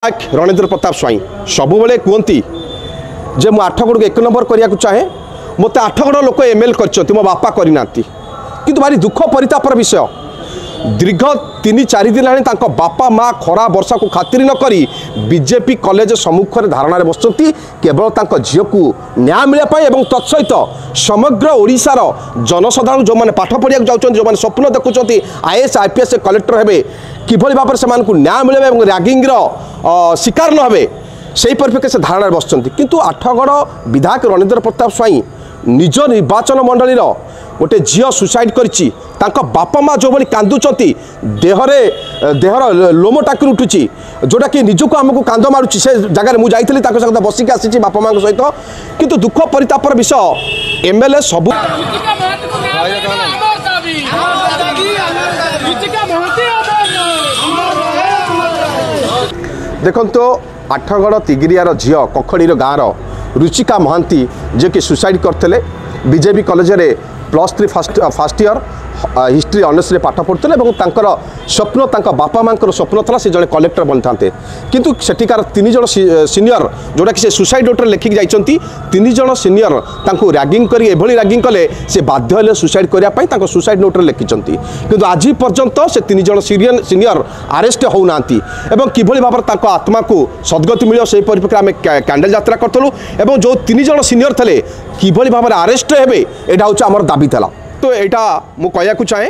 ରଣେନ୍ଦ୍ର ପ୍ରତାପ ସ୍ୱାଇଁ ସବୁବେଳେ କୁହନ୍ତି ଯେ ମୁଁ ଆଠଗଡ଼କୁ 1 ନମ୍ବର କରିବାକୁ ଚାହେଁ, ମୋତେ ଆଠଗଡ଼ ଲୋକ ଏମ୍ ଏଲ୍ କରିଛନ୍ତି, ମୋ ବାପା କରିନାହାନ୍ତି। କିନ୍ତୁ ଭାରି ଦୁଃଖ ପରିତାପର ବିଷୟ, ଦୀର୍ଘ 3 4 ଦିନ ହେଲାଣି ତାଙ୍କ ବାପା ମା ଖରା ବର୍ଷାକୁ ଖାତିରି ନ କରି ବିଜେପି କଲେଜ ସମ୍ମୁଖରେ ଧାରଣାରେ ବସିଛନ୍ତି, କେବଳ ତାଙ୍କ ଝିଅକୁ ନ୍ୟାୟ ମିଳିବା ପାଇଁ ଏବଂ ତତ୍ସହିତ ସମଗ୍ର ଓଡ଼ିଶାର ଜନସାଧାରଣ ଯେଉଁମାନେ ପାଠ ପଢ଼ିବାକୁ ଯାଉଛନ୍ତି, ଯେଉଁମାନେ ସ୍ୱପ୍ନ ଦେଖୁଛନ୍ତି ଆଇଏଏସ୍ ଆଇପିଏସ୍ କଲେକ୍ଟର ହେବେ, କିଭଳି ଭାବରେ ସେମାନଙ୍କୁ ନ୍ୟାୟ ମିଳିବ ଏବଂ ରାଗିଂର ଶିକାର ନ ହେବେ ସେହି ପରିପ୍ରେକ୍ଷୀରେ ସେ ଧାରଣାରେ ବସିଛନ୍ତି। କିନ୍ତୁ ଆଠଗଡ଼ ବିଧାୟକ ରଣେନ୍ଦ୍ର ପ୍ରତାପ ସ୍ୱାଇଁ ନିଜ ନିର୍ବାଚନ ମଣ୍ଡଳୀର ଗୋଟେ ଝିଅ ସୁସାଇଡ଼ କରିଛି, ତାଙ୍କ ବାପା ମା ଯେଉଁଭଳି କାନ୍ଦୁଛନ୍ତି, ଦେହରେ ଦେହର ଲୋମ ଟାଙ୍କି ଉଠୁଛି, ଯେଉଁଟାକି ନିଜକୁ ଆମକୁ କାନ୍ଦ ମାରୁଛି। ସେ ଜାଗାରେ ମୁଁ ଯାଇଥିଲି, ତାଙ୍କ ସହିତ ବସିକି ଆସିଛି ବାପା ମାଆଙ୍କ ସହିତ। କିନ୍ତୁ ଦୁଃଖ ପରିତାପର ବିଷୟ, ଏମ୍ ଏଲ୍ ଏ ସବୁ ଦେଖନ୍ତୁ। ଆଠଗଡ଼ ତିଗିରିଆର ଝିଅ, କଖଡ଼ିର ଗାଁର ରୁଚିକା ମହାନ୍ତି, ଯିଏକି ସୁସାଇଡ଼ କରିଥିଲେ, ବିଜେପି କଲେଜରେ +3 ଫାଷ୍ଟ ଇୟର୍ ହିଷ୍ଟ୍ରି ଅନର୍ସରେ ପାଠ ପଢ଼ୁଥିଲେ ଏବଂ ତାଙ୍କର ସ୍ୱପ୍ନ, ତାଙ୍କ ବାପା ମାଆଙ୍କର ସ୍ୱପ୍ନ ଥିଲା ସେ ଜଣେ କଲେକ୍ଟର ବନିଥାନ୍ତେ। କିନ୍ତୁ ସେଠିକାର 3 ଜଣ ସିନିୟର, ଯେଉଁଟାକି ସେ ସୁସାଇଡ଼ ନୋଟ୍ରେ ଲେଖିକି ଯାଇଛନ୍ତି, 3 ଜଣ ସିନିୟର ତାଙ୍କୁ ରାଗିଂ କରି ଏଭଳି ରାଗିଂ କଲେ ସେ ବାଧ୍ୟ ହେଲେ ସୁସାଇଡ଼ କରିବା ପାଇଁ, ତାଙ୍କ ସୁସାଇଡ଼ ନୋଟ୍ରେ ଲେଖିଛନ୍ତି। କିନ୍ତୁ ଆଜି ପର୍ଯ୍ୟନ୍ତ ସେ 3 ଜଣ ସିନିୟର ଆରେଷ୍ଟ ହେଉନାହାନ୍ତି ଏବଂ କିଭଳି ଭାବରେ ତାଙ୍କ ଆତ୍ମାକୁ ସଦ୍ଗତି ମିଳିବ ସେହି ପରିପ୍ରେକ୍ଷୀରେ ଆମେ କ୍ୟାଣ୍ଡେଲ ଯାତ୍ରା କରିଥିଲୁ ଏବଂ ଯେଉଁ 3 ଜଣ ସିନିୟର ଥିଲେ କିଭଳି ଭାବରେ ଆରେଷ୍ଟ ହେବେ ଏଇଟା ହେଉଛି ଆମର ଦାବି ଥିଲା। ତ ଏଇଟା ମୁଁ କହିବାକୁ ଚାହେଁ,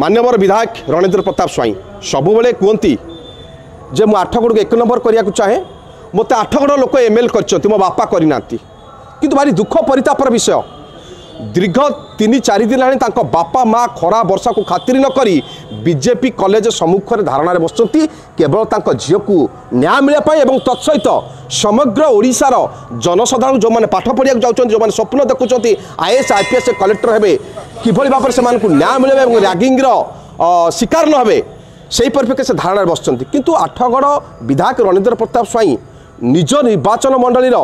ମାନ୍ୟବର ବିଧାୟକ ରଣେନ୍ଦ୍ର ପ୍ରତାପ ସ୍ୱାଇଁ ସବୁବେଳେ କୁହନ୍ତି ଯେ ମୁଁ ଆଠଗଡ଼କୁ 1 ନମ୍ବର କରିବାକୁ ଚାହେଁ, ମୋତେ ଆଠଗଡ଼ ଲୋକ ଏମ୍ ଏଲ୍ କରିଛନ୍ତି, ମୋ ବାପା କରିନାହାନ୍ତି। କିନ୍ତୁ ଭାରି ଦୁଃଖ ପରିତାପର ବିଷୟ, ଦୀର୍ଘ 3 4 ଦିନ ହେଲାଣି ତାଙ୍କ ବାପା ମା ଖରା ବର୍ଷାକୁ ଖାତିରି ନ କରି ବିଜେପି କଲେଜ ସମ୍ମୁଖରେ ଧାରଣାରେ ବସିଛନ୍ତି, କେବଳ ତାଙ୍କ ଝିଅକୁ ନ୍ୟାୟ ମିଳିବା ପାଇଁ ଏବଂ ତତ୍ସହିତ ସମଗ୍ର ଓଡ଼ିଶାର ଜନସାଧାରଣ ଯେଉଁମାନେ ପାଠ ପଢ଼ିବାକୁ ଯାଉଛନ୍ତି, ଯେଉଁମାନେ ସ୍ୱପ୍ନ ଦେଖୁଛନ୍ତି ଆଇଏଏସ୍ ଆଇପିଏସ୍ କଲେକ୍ଟର ହେବେ, କିଭଳି ଭାବରେ ସେମାନଙ୍କୁ ନ୍ୟାୟ ମିଳିବ ଏବଂ ରାଗିଂର ଶିକାର ନ ହେବେ ସେହି ପରିପ୍ରେକ୍ଷୀରେ ସେ ଧାରଣାରେ ବସିଛନ୍ତି। କିନ୍ତୁ ଆଠଗଡ଼ ବିଧାୟକ ରଣେନ୍ଦ୍ର ପ୍ରତାପ ସ୍ୱାଇଁ ନିଜ ନିର୍ବାଚନ ମଣ୍ଡଳୀର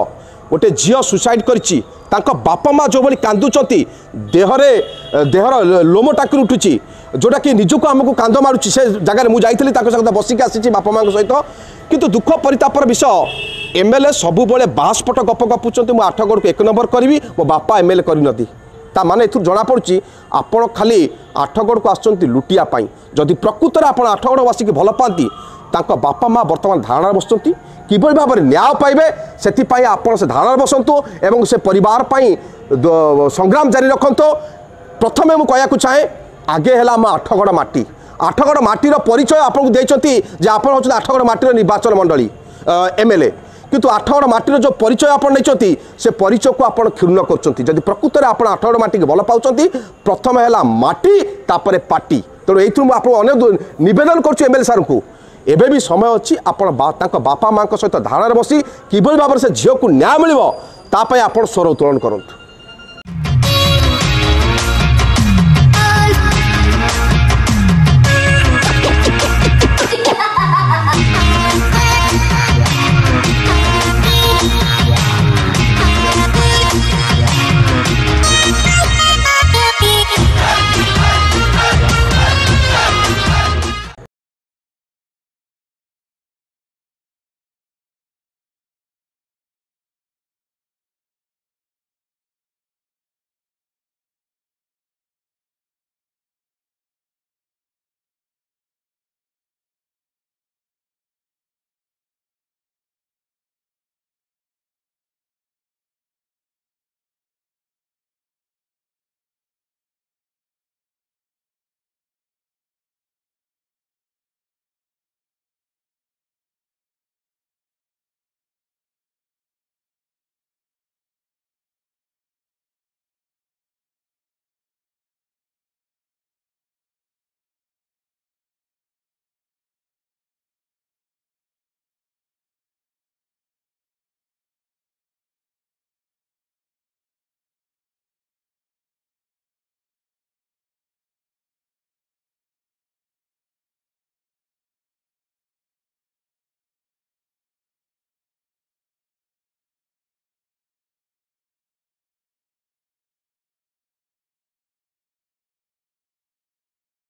ଗୋଟେ ଝିଅ ସୁସାଇଡ଼ କରିଛି, ତାଙ୍କ ବାପା ମା ଯେଉଁଭଳି କାନ୍ଦୁଛନ୍ତି, ଦେହରେ ଦେହର ଲୋମ ଟାଙ୍କି ଉଠୁଛି, ଯେଉଁଟାକି ନିଜକୁ ଆମକୁ କାନ୍ଦ ମାରୁଛି। ସେ ଜାଗାରେ ମୁଁ ଯାଇଥିଲି, ତାଙ୍କ ସହିତ ବସିକି ଆସିଛି ବାପା ମାଆଙ୍କ ସହିତ। କିନ୍ତୁ ଦୁଃଖ ପରିତାପର ବିଷୟ, ଏମ୍ ଏଲ୍ ଏ ସବୁବେଳେ ବାସ୍ପଟ ଗପ ଗପୁଛନ୍ତି, ମୁଁ ଆଠଗଡ଼କୁ 1 ନମ୍ବର କରିବି, ମୋ ବାପା ଏମ୍ ଏଲ୍ ଏ କରିନାହାନ୍ତି। ତା ମାନେ ଏଥିରୁ ଜଣାପଡ଼ୁଛି ଆପଣ ଖାଲି ଆଠଗଡ଼କୁ ଆସୁଛନ୍ତି ଲୁଟିବା ପାଇଁ। ଯଦି ପ୍ରକୃତରେ ଆପଣ ଆଠଗଡ଼ବାସୀକି ଭଲ ପାଆନ୍ତି, ତାଙ୍କ ବାପା ମା ବର୍ତ୍ତମାନ ଧାରଣାରେ ବସୁଛନ୍ତି, କିଭଳି ଭାବରେ ନ୍ୟାୟ ପାଇବେ ସେଥିପାଇଁ ଆପଣ ସେ ଧାରଣାରେ ବସନ୍ତୁ ଏବଂ ସେ ପରିବାର ପାଇଁ ସଂଗ୍ରାମ ଜାରି ରଖନ୍ତୁ। ପ୍ରଥମେ ମୁଁ କହିବାକୁ ଚାହେଁ, ଆଗେ ହେଲା ଆମ ଆଠଗଡ଼ ମାଟି। ଆଠଗଡ଼ ମାଟିର ପରିଚୟ ଆପଣଙ୍କୁ ଦେଇଛନ୍ତି ଯେ ଆପଣ ହେଉଛନ୍ତି ଆଠଗଡ଼ ମାଟିର ନିର୍ବାଚନ ମଣ୍ଡଳୀ ଏମ୍ ଏଲ୍ ଏ, କିନ୍ତୁ ଆଠଗଡ଼ ମାଟିର ଯେଉଁ ପରିଚୟ ଆପଣ ନେଇଛନ୍ତି ସେ ପରିଚୟକୁ ଆପଣ କ୍ଷୁଣ୍ଣ କରୁଛନ୍ତି। ଯଦି ପ୍ରକୃତରେ ଆପଣ ଆଠଗଡ଼ ମାଟିକି ଭଲ ପାଉଛନ୍ତି, ପ୍ରଥମେ ହେଲା ମାଟି, ତାପରେ ପାର୍ଟି। ତେଣୁ ଏଇଥିରୁ ମୁଁ ଆପଣଙ୍କୁ ଅନେକ ନିବେଦନ କରୁଛି ଏମ୍ ଏଲ୍ ଏ ସାର୍ଙ୍କୁ, ଏବେ ବି ସମୟ ଅଛି, ଆପଣ ତାଙ୍କ ବାପା ମାଆଙ୍କ ସହିତ ଧାରଣାରେ ବସି କିଭଳି ଭାବରେ ସେ ଝିଅକୁ ନ୍ୟାୟ ମିଳିବ ତା ପାଇଁ ଆପଣ ସ୍ୱର ଉତ୍ତୋଳନ କରନ୍ତୁ।